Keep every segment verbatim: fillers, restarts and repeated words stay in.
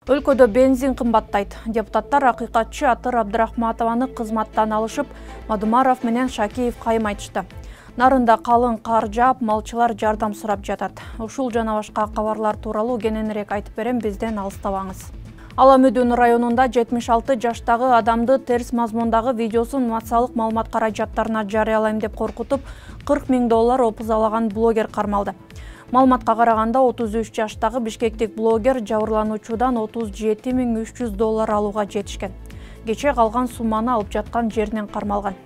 Өлкөдө бензин кымбаттайт. Депутаттар акыйкатчы Атыр Абдрахматованы кызматтан алышып, Мадумаров менен Шакеев кайым айтышты. Нарында калың кар жаап, малчылар жардам сурап жатат. Ушул жана башка кабарлар тууралуу кененирээк айтып берем, бизден алыстабаңыз. Ала Мүдүн районунда жетимиш алты жаштагы адамды терс мазмундагы видеосун массалык маалымат каражаттарына жарыялайм деп коркутуп, кырк миң доллар опузалаган блогер кармалды. Маалыматка караганда отуз үч жаштагы бишкектик блогер жабырлануучудан отуз жети миң үч жүз доллар алууга жетишкен. Кече калган сумманы алып жаткан жеринен кармалган.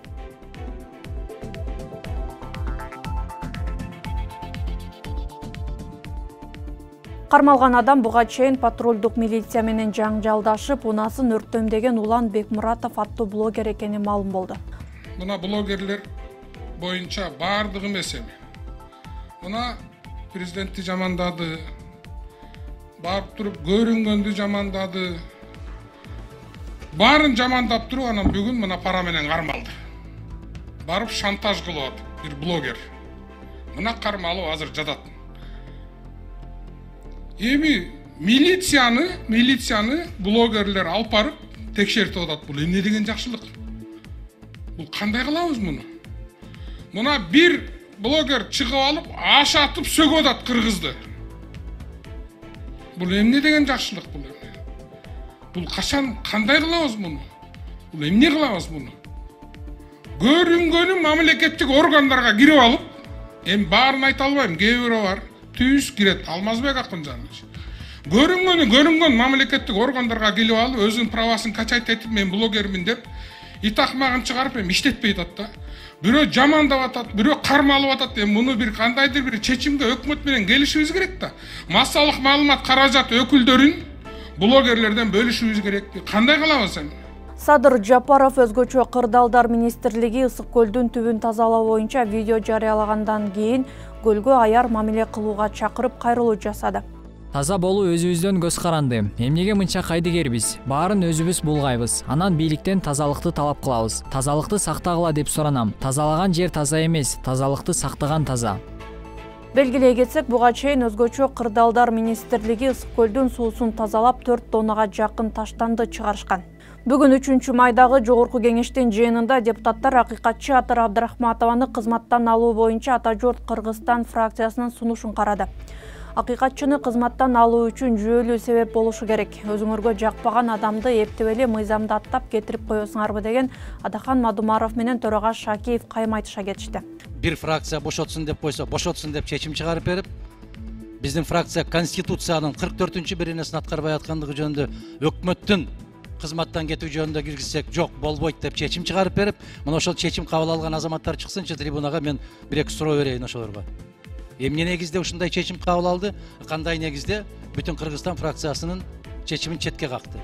Кармалган адам буга чейин патрулдук милиция менен жаңжалдашып, унасын өрттөмдөгөн Улан Бекмуратов аттуу блогер экени маалым болду. Мына блогерлер боюнча бардыгы эмес эми. Мына президентти жамандады, барып туруп көрүнгөндү жамандады. Барын жамандап туруп, анан бүгүн мына пара менен кармалды. Барып шантаж кылып атат бир блогер. Мына кармалуу азыр жатат. Эми милицияны, милицияны блогерлер алып барып текшертип атат. Бул эмне деген жакшылык? Бул кандай кылабыз муну? Мына бир блогер чыгып алып, аш атып сөгүп атат кыргызды. Бул эмне деген жакшылык бул эми? Бул качан кандай кылабыз муну? Бул эмне кылабыз муну? Көрүнгөнү мамлекеттик органдарга кирип алып, эми баарын айта албайм, кээ бирөө бар. Түз кирет, Алмазбек Акынжанович. Көрүнгөнү көрүнгөн мамлекеттик органдарга келип алып, өзүнүн правасын качайт этип, мен блогермин деп, итакмагын чыгарып, эми иштетпей атат да. Бирөө жамандап атат, бирөө кармалып атат. Эми муну бир кандайдыр бир чечимге өкмөт менен келишибиз керек да. Массалык маалымат каражат өкүлдөрүн блогерлерден бөлүшүбүз керек. Кандай кылабыз эми? Садыр Жапаров өзгөчө Кырдаалдар министрлиги Ысык көлдүн түбүн тазалоо боюнча видео жарыялагандан кийин көлгө аяр мамиле кылууга чакырып кайрылуу жасады. Таза болуу өзүбүздөн көз каранды. Эмнеге мынча кайдыгербиз? Баарын өзүбүз булгайбыз. Анан бийликтен тазалыкты талап кылабыз. Тазалыкты сактагыла деп суранам. Тазалаган жер таза эмес, тазалыкты сактаган таза. Белгилей кетсек, буга чейин өзгөчө Кырдаалдар министрлиги Ысык көлдүн суусун тазалап төрт тоннага жакын таштанды чыгарышкан. Бүгүн үчүнчү майдагы жогорку кеңештин жыйынында депутаттар акыйкатчы Атыр Абдрахматованы кызматтан алуу боюнча Ата журт Кыргызстан фракциясынын сунушун карады. Акыйкатчыны кызматтан алуу үчүн жүйөлүү себеп болушу керек. Өзүңөргө жакпаган адамды эптеп эле мыйзамды аттап кетирип коесуңарбы деген Адахан Мадумаров менен төрага Шакеев кайым айтыша кетишти. Бир фракция бошотсун деп койсо, бошотсун деп чечим чыгарып берип, биздин фракция Конституциянын кырк төртүнчү биринесин аткарбай аткандыгы жөнүндө өкмөттүн кызматтан кетүү жөнүндө киргизсек жок болбойт деп чечим чыгарып берип, мына ошол чечим кабыл алган азаматтар чыксынчы трибунага, мен бир эки суроо берейин ошолорго. Эмне негизде ушундай чечим кабыл алды? Кандай негизде бүтүн Кыргызстан фракциясынын чечимин четке какты?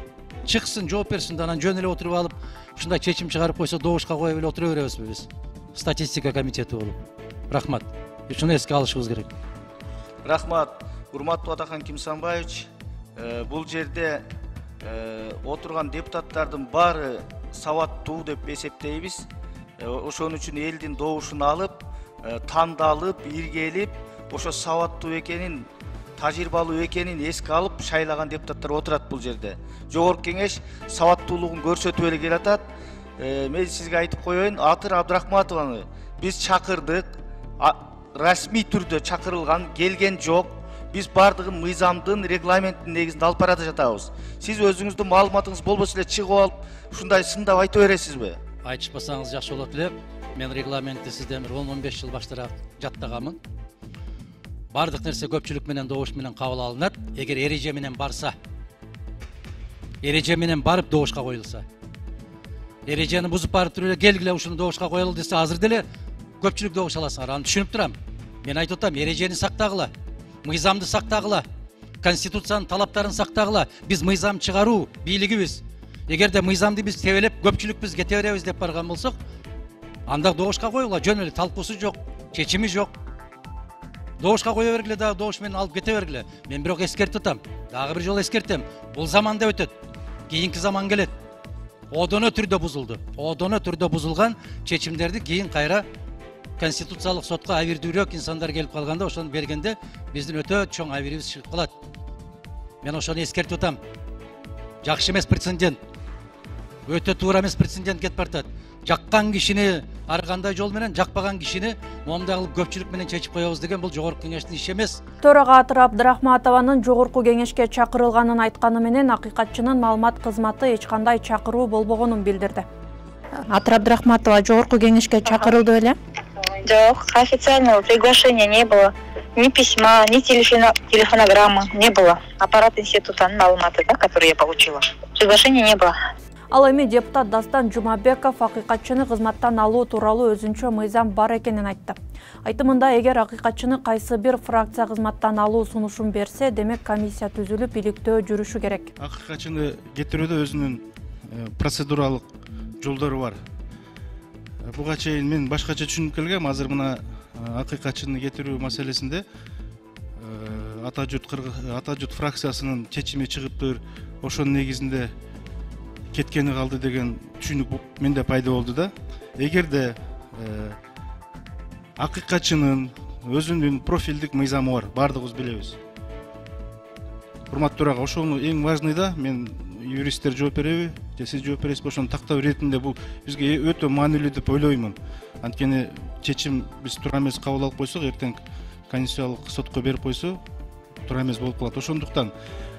Чыксын, жооп берсин, анан жөн эле отуруп алып, ушундай чечим чыгарып койсо добушка коюп эле отура беребизби биз? Статистика комитети болуп. Рахмат. Ушуну эске алышыбыз керек. Рахмат. Урматтуу Адахан Кимсанбаевич, бул жерде отурган депутаттардын баары сабаттуу деп эсептейбиз. Ошон үчүн элдин добушун алып, тандалып, иргелип, ошо сабаттуу экенин, тажрыйбалуу экенин эске алып шайлаган депутаттар отурат бул жерде. Жогорку кеңеш сабаттуулугун көрсөтүп эле келатат. Мен сизге айтып коеюн, Атыр Абдрахматованы биз чакырдык, расмий түрдө чакырылган, келген жок. Биз бардыгын мыйзамдын, регламенттин негизинде алып барата жатабыз. Сиз өзүңүздүн маалыматыңыз болбосо эле чыгып алып, ушундай сындап айта бересизби? Айтышпасаңыз жакшы болот эле. Мен регламентти сизден бир он он беш жыл баштараак жаттаганмын. Бардык нерсе көпчүлүк менен, добуш менен кабыл алынат. Эгер эреже менен барса, эреже менен барып добушка коюлса. Эрежени бузуп барып туруп эле келгиле ушуну добушка коелу десе, азыр деле көпчүлүк добуш аласыңар. Аны түшүнүп турам. Мен айтып атам, эрежени сактагыла. Мыйзамды сактагыла, Конституциянын талаптарын сактагыла. Биз мыйзам чыгаруу бийлигибиз. Эгерде мыйзамды биз тебелеп, көпчүлүк биз кете беребиз деп барган болсок, анда добушка коюла, жөн эле талкуусу жок, чечими жок. Добушка кое бергиле, дагы добуш менен алып кете бергиле. Мен бирок эскертип атам, дагы бир жолу эскертем. Бул заманда өтөт. Кийинки заман келет. Одоно түрдө бузулду. Одоно түрдө бузулган чечимдерди кийин кайра Конституциялык сотко абийирдүүрөөк инсандар келип калганда, ошону бергенде биздин өтө чоң абийирибиз чыгып калат. Мен ошону эскертип атам. жакшы эмес прецедент, өтө туура эмес прецедент кетип баратат. Жаккан кишини ар кандай жол менен, жакпаган кишини момундай кылып көпчүлүк менен чечип коебуз деген бул жогорку кеңештин иши эмес. Төрага Атыр Абдрахматованын жогорку кеңешке чакырылганын айтканы менен акыйкатчынын маалымат кызматы эч кандай чакыруу болбогонун билдирди. Атыр Абдрахматова жогорку кеңешке чакырылды беле? Жок, официального приглашения не было. Ни письма, ни телефонограммы не было. Аппарат институтанын маалыматы, да, который я получила. Приглашения не было. Ал эми депутат Дастан Жумабеков акыйкатчыны кызматтан алуу тууралуу өзүнчө мыйзам бар экенин айтты. Айтымында, эгер акыйкатчыны кайсы бир фракция кызматтан алуу сунушун берсе, демек комиссия түзүлүп иликтөө жүрүшү керек. Акыйкатчыны кетирүүдө өзүнүн процедуралык жолдору бар. Буга чейин мен башкача түшүнүп келгем. Азыр мына акыйкатчыны кетирүү маселесинде ата журт ата журт фракциясынын чечими чыгыптыр, ошонун негизинде кеткени калды деген түшүнүк менде пайда болду да. Эгерде акыйкатчынын өзүнүн профилдик мыйзамы бар, баардыгыбыз билебиз. Урматтуу ага, ошону эң важный да, мен юристтер жооп береби, же сиз жооп бересизби, ошону тактоо иретинде бул бизге өтө маанилүү деп ойлоймун. Анткени чечим биз туура эмес кабыл алып койсок, эртең конституциялык сотко берип койсо, туура эмес болуп калат. Ошондуктан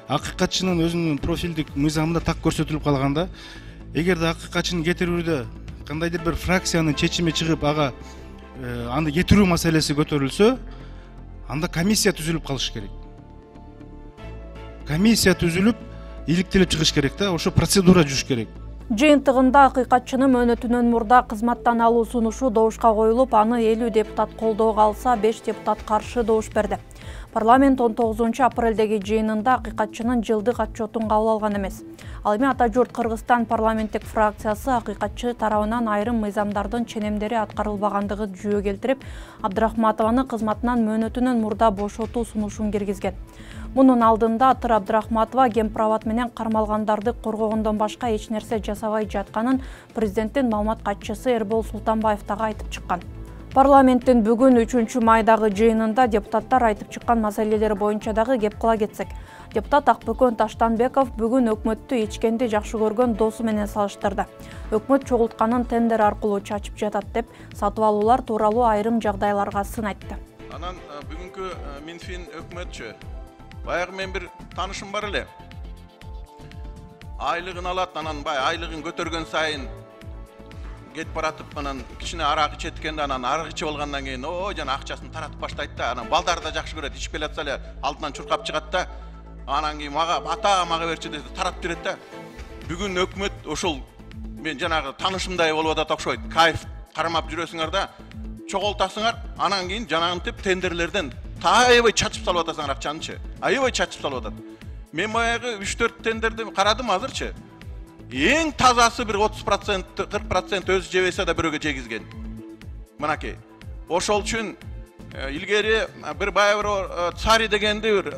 акыйкатчынын өзүнүн профилдик мыйзамында так көрсөтүлүп калганда, эгерде акыйкатчыны кетирүүдө кандайдыр бир фракциянын чечими чыгып, ага аны кетирүү маселеси көтөрүлсө, анда комиссия түзүлүп калыш керек. Комиссия түзүлүп, иликтелип чыгыш керек да, ошо процедура жүрүш керек. Жыйынтыгында акыйкатчынын мөөнөтүнөн мурда кызматтан алуу сунушу добушка коюлуп, аны элүү депутат колдоого алса, беш депутат каршы добуш берди. Парламент он тогузунчу апрелдеги жыйынында акыйкатчынын жылдык отчетун кабыл алган эмес. Ал эми Ата журт Кыргызстан парламенттик фракциясы акыйкатчы тарабынан айрым мыйзамдардын ченемдери аткарылбагандыгы жүйө келтирип, Абдрахматованы кызматынан мөөнөтүнөн мурда бошотуу сунушун киргизген. Мунун алдында Атыр Абдрахматова кемпирабад менен кармалгандарды коргогондон башка эч нерсе жасабай жатканын президенттин маалымат катчысы Эрбол Султанбаев дагы айтып чыккан. Парламенттин бүгүн үчүнчү майдагы жыйынында депутаттар айтып чыккан маселелер боюнча дагы кеп кыла кетсек. Депутат Акбөкөн Таштанбеков бүгүн өкмөттү ичкенди жакшы көргөн досу менен салыштырды. Өкмөт чогултканын тендер аркылуу чачып жатат деп, сатып алуулар тууралуу айрым жагдайларга сын айтты. Анан бүгүнкү Минфин өкмөтчү баягы мен бир таанышым бар эле. Айлыгын алат, анан бай айлыгын көтөргөн сайын кетип баратып, анан кичине арак ичеткенде, анан арак ичип алгандан кийин о жана акчасын таратып баштайт да, анан балдар да жакшы көрөт, ичип келатса эле алдынан чуркап чыгат да, анан кийин мага ата мага берчи десе таратып берет да. Бүгүн өкмөт ошол мен жанагы таанышымдай болуп атат окшойт. Кайф кармап жүрөсүңөр да, чогултасыңар, анан кийин жанагынтип тендерлерден аябай чачып салып атасыңар акчанычы. Аябай чачып салып атат. Мен баягы үч төрт тендерди карадым азырчы. Эң тазасы бир отуз процент, кырк процент өзү жебесе да бирөөгө жегизген. Мынакей. Ошол үчүн илгери бир баягы Цари дегенди бир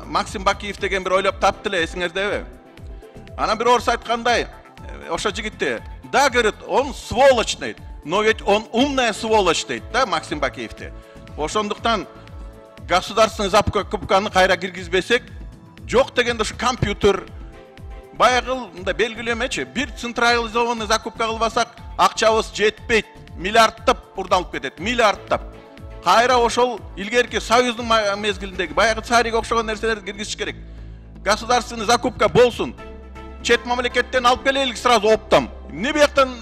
Максим Бакиев деген бир ойлоп таптты эле, эсиңердеби? Анан бир орус айткандай, ошо жигитти, да, говорит, он сволочь дейт, но ведь он умная сволочь дейт, да, Максим Бакиевти. Ошондуктан государственный закупканы кайра киргизбесек, жок дегенде ушу компьютер баягы мындай белгилемечи, бир централизованный закупка кылбасак, акчабыз жетпейт, миллиардтап урдалып кетет, миллиардтап. Кайра ошол илгерки союздун мезгилиндеги баягы Цариге окшогон нерселерди киргизиш керек. Государственный закупка болсун. Чет мамлекеттен алып келелик сразу оптом. Эмне бияктан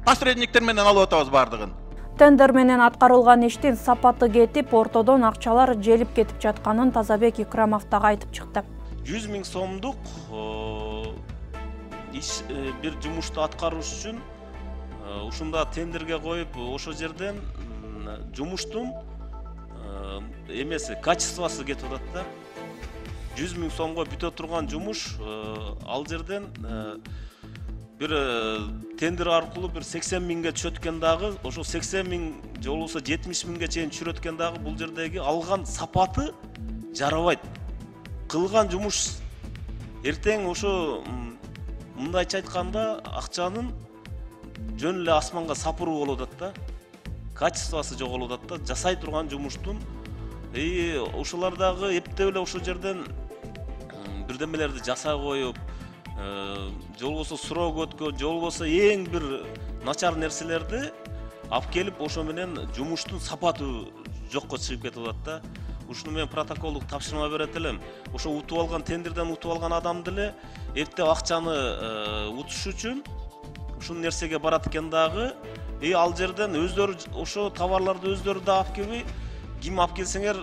посредниктер менен алып атабыз бардыгын? Тендер менен аткарылган иштин сапаты кетип, ортодон акчалар желип кетип жатканын Тазабек Икрамов дагы айтып чыкты. жүз миң сомдук иш бир жумушту аткарыш үчүн ушунда тендерге коюп, ошол жерден жумуштун эмеси, качествосы кетип атат да. жүз миң сомго бүтө турган жумуш ал жерден бир тендер аркылуу бир сексен миңге түшөткөн дагы, ошол сексен миң же болбосо жетимиш миңге чейин түшүрөткөн дагы бул жердеги алган сапаты жарабайт. Кылган жумуш эртең ошо мындайча айтканда акчанын жөн эле асманга сапыруу болуп атат да. Качествосы жоголуп атат да, жасай турган жумуштун. И ошолар дагы эптеп эле ошол жерден бирдемелерди жасай коюп, же болбосо суроо өткөн, же болбосо эң бир начар нерселерди алып келип, ошо менен жумуштун сапаты жокко чыгып кетип атат да. Ушуну мен протоколдук тапшырма берет элем. Ошо утуп алган, тендерден утуп алган адам деле эрте акчаны утуш үчүн ушул нерсеге барат экен дагы. И ал жерден өздөрү ошо товарларды өздөрү да алып келбей, ким алып келсеңер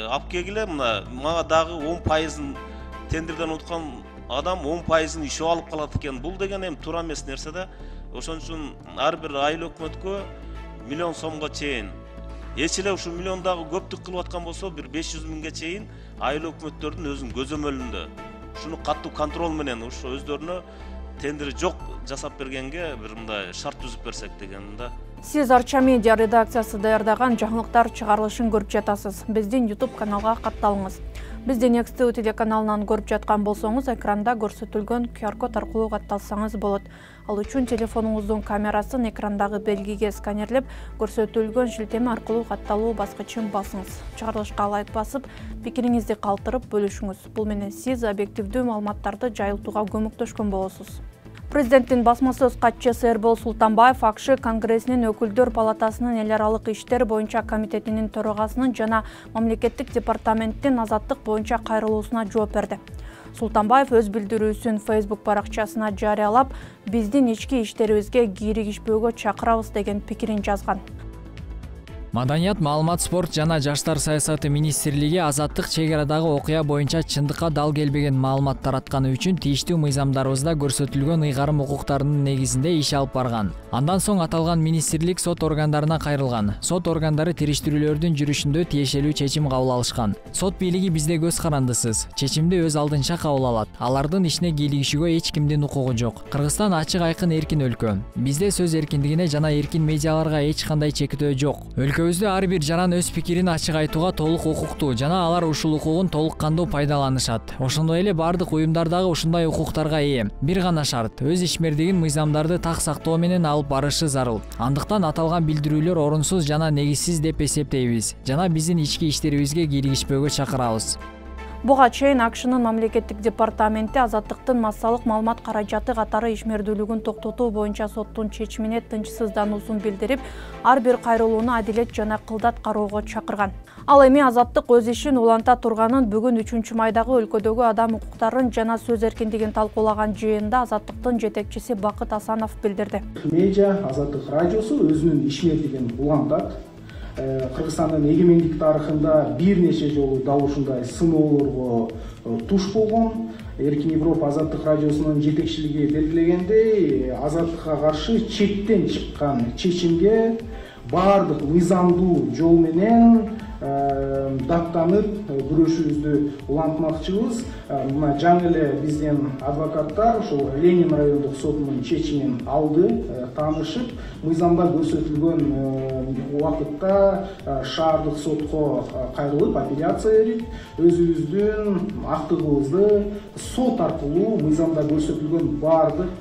алып келгиле, мына мага дагы он пайызын тендерден уткан адам он пайызын ишип алып калат экен. Бул деген эми туура эмес нерсе да. Ошон үчүн ар бир айыл өкмөткө миллион сомго чейин, эч эле ушул миллиондагы көптүк кылып аткан болсо бир беш жүз миңге чейин айыл өкмөттөрдүн өзүнүн көзөмөлүндө ушуну катуу контрол менен ошо өздөрүнө тендери жок жасап бергенге бир мындай шарт түзүп берсек деген да. Сиз Арча медиа редакциясы даярдаган жаңылыктар чыгарылышын көрүп жатасыз. Биздин YouTube каналга катталыңыз. Бизди Next ти ви телеканалынан көрүп жаткан болсоңуз, экранда көрсөтүлгөн ку ар код аркылуу катталсаңыз болот. Ал үчүн телефонуңуздун камерасын экрандагы белгиге сканерлеп, көрсөтүлгөн шилтеме аркылуу катталуу баскычын басыңыз. Чыгарылышка лайк басып, пикириңизди калтырып бөлүшүңүз. Бул менен сиз объективдүү маалыматтарды жайылтууга көмөктөшкөн болосуз. Президенттин басма сөз катчысы Эрбол Султанбаев АКШ Конгрессинин өкүлдөр палатасынын эл аралык иштер боюнча комитетинин төрагасынын жана мамлекеттик департаменттин азаттык боюнча кайрылуусуна жооп берди. Султанбаев өз билдирүүсүн Facebook баракчасына жарыялап, биздин ички иштерибизге кииригишпөөгө чакырабыз деген пикирин жазган. Маданият, маалымат, спорт жана жаштар саясаты министрлиги азаттык чек арадагы окуя боюнча чындыкка дал келбеген маалымат таратканы үчүн тийиштүү мыйзамдарыбызда көрсөтүлгөн ыйгарым укуктарынын негизинде иш алып барган. Андан соң аталган министрлик сот органдарына кайрылган. Сот органдары териштирүүлөрдүн жүрүшүндө тиешелүү чечим кабыл алышкан. Сот бийлиги бизде көз карандысыз, чечимди өз алдынча кабыл алат. Алардын ишине кийлигишүүгө эч кимдин укугу жок. Кыргызстан ачык айкын эркин өлкө. Бизде сөз эркиндигине жана эркин медиаларга эч кандай чектөө жок. Өлкөбүздө ар бир жаран өз пикирин ачык айтууга толук укуктуу жана алар ушул укугун толук кандуу пайдаланышат. Ошондой эле бардык уюмдар дагы ушундай укуктарга ээ. Бир гана шарт, өз ишмердигин мыйзамдарды так сактоо менен алып барышы зарыл. Андыктан аталган билдирүүлөр орунсуз жана негизсиз деп эсептейбиз жана биздин ички иштерибизге кийлигишпөөгө чакырабыз. Буга чейин АКШнын мамлекеттик департаменти азаттыктын массалык маалымат каражаты катары ишмердүүлүгүн токтотуу боюнча соттун чечимине тынчсыздануусун билдирип, ар бир кайрылууну адилет жана кылдат кароого чакырган. Ал эми азаттык өз ишин уланта турганын бүгүн үчүнчү майдагы өлкөдөгү адам укуктарын жана сөз эркиндигин талкуулаган жыйында азаттыктын жетекчиси Бакыт Асанов билдирди. Медиа Азаттык радиосу өзүнүн ишмердигин улантат. Кыргызстандын эгемендик тарыхында бир нече жолу дал ушундай сыноолорго туш болгон. Эркин Европа Азаттык радиосунун жетекчилиги белгилегендей, азаттыкка каршы чектен чыккан чечимге баардык мыйзамдуу жол менен даттанып күрөшүүбүздү улантмакчыбыз. Мына жаңы эле биздин адвокаттар ошол Ленин райондук сотунун чечимин алды, таанышып, мыйзамда көрсөтүлгөн убакытта шаардык сотко кайрылып, апелляция берип, өзүбүздүн актыгыбызды сот аркылуу мыйзамда көрсөтүлгөн баардык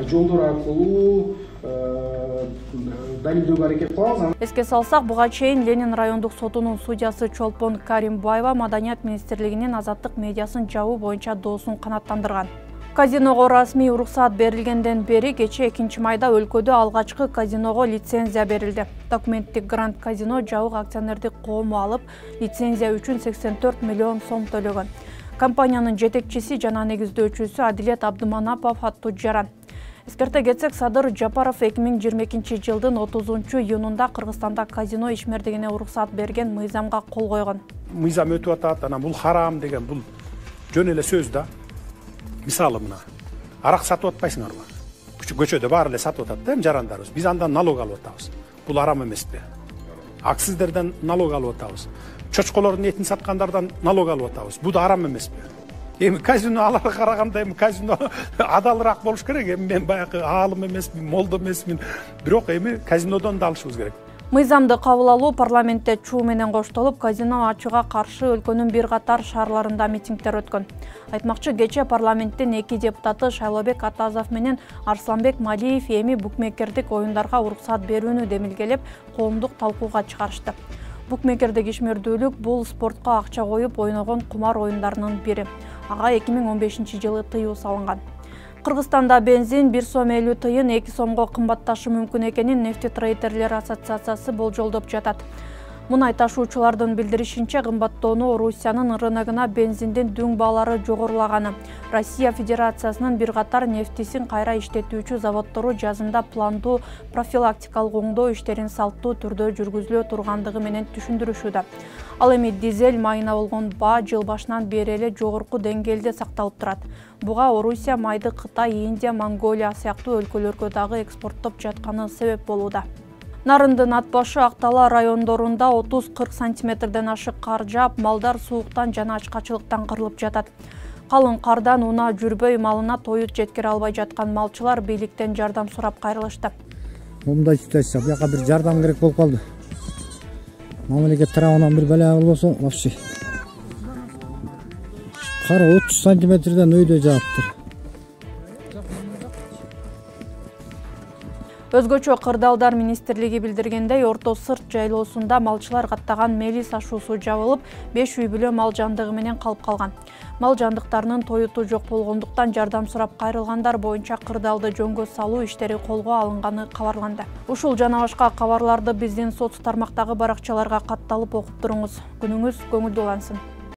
жолдор аркылуу далилдөөгө аракет кылабыз. Эске салсак, буга чейин Ленин райондук сотунун судьясы Чолпон Каримбаева Маданият министрлигинин азаттык медиасын жабуу боюнча доосун канааттандырган. Казиного расмий уруксаат берилгенден бери кечээ экинчи майда өлкөдө алгачкы казиного лицензия берилди. Документтик грант казино жабык акционердик коому алып, лицензия үчүн сексен төрт миллион сом төлөгөн. Компаниянын жетекчиси жана негиздөөчүсү Адилет Абдыманапов аттуу жаран. Эскерте кетсек, Садыр Жапаров эки миң жыйырма экинчи жылдын отузунчу июнунда Кыргызстанда казино ишмердигине уруксаат берген мыйзамга кол койгон. Мыйзам өтүп атат, анан бул харам деген бул жөн эле сөз да. Мисалы мына арак сатып атпайсыңарбы? Көчөдө баары эле сатып атат да, эми жарандарыбыз. Биз андан налог алып атабыз. Бул харам эмеспи? Акциздерден налог алып атабыз. Чочколордун этин саткандардан налог алып атабыз. Бул да харам эмеспи? Эми казино аларга караганда эми казино адалыраак болуш керек. Эми мен баягы аалым эмесмин, молдо эмесмин. Бирок эми казинодон да алышыбыз керек. Мыйзамды кабыл алуу парламентте чуу менен коштолуп, казино ачууга каршы өлкөнүн бир катар шаарларында митингдер өткөн. Айтмакчы, кечээ парламенттин эки депутаты Шайлообек Атазов менен Арсланбек Малиев эми букмекердик оюндарга уруксаат берүүнү демилгелеп, коомдук талкууга чыгарышты. Букмекердик ишмердүүлүк бул спортко акча коюп ойногон кумар оюндарынын бири. Ага эки миң он бешинчи жылы тыюу салынган. Кыргызстанда бензин бир сом элүү тыйын эки сомго кымбатташы мүмкүн экенин Нефтетрейдерлер ассоциациясы болжолдоп жатат. Мунай ташуучулардын билдиришинче, кымбаттоону Орусиянын рыногуна бензиндин дүң баалары жогорулаганы. Россия Федерациясынын бир катар нефтисин кайра иштетүүчү заводдору жазында пландуу профилактикалык оңдоо иштерин салттуу түрдө жүргүзүлө тургандыгы менен түшүндүрүшүүдө. Ал эми дизель майына болгон баа жыл башынан бери эле жогорку деңгээлде сакталып турат. Буга Орусия майды Кытай, Индия, Монголия сыяктуу өлкөлөргө дагы экспорттоп жатканы себеп болууда. Нарындын ат башы Актала райондорунда отуз кырк сантиметрден ашык кар жаап, малдар сууктан жана ачкачылыктан кырылып жатат. Калың кардан унаа жүрбөй малына тоют жеткире албай жаткан малчылар бийликтен жардам сурап кайрылышты. Мындай ситуация, буяка бир жардам керек болуп калды. Мамлекет тарабынан бир бала болбосо, вообще. Кар отуз сантиметрден өйдө жааптыр. Өзгөчө Кырдаалдар министрлиги билдиргендей, Орто Сырт жайлоосунда малчылар каттаган мелис ашуусу жабылып, беш үй бүлө мал жандыгы менен калып калган. Мал жандыктарынын тоюту жок болгондуктан жардам сурап кайрылгандар боюнча кырдаалды жөнгө салуу иштери колго алынганы кабарланды. Ушул жана башка кабарларды биздин соц тармактагы баракчаларга катталып окуп туруңуз. Күнүңүз көңүлдүү улансын.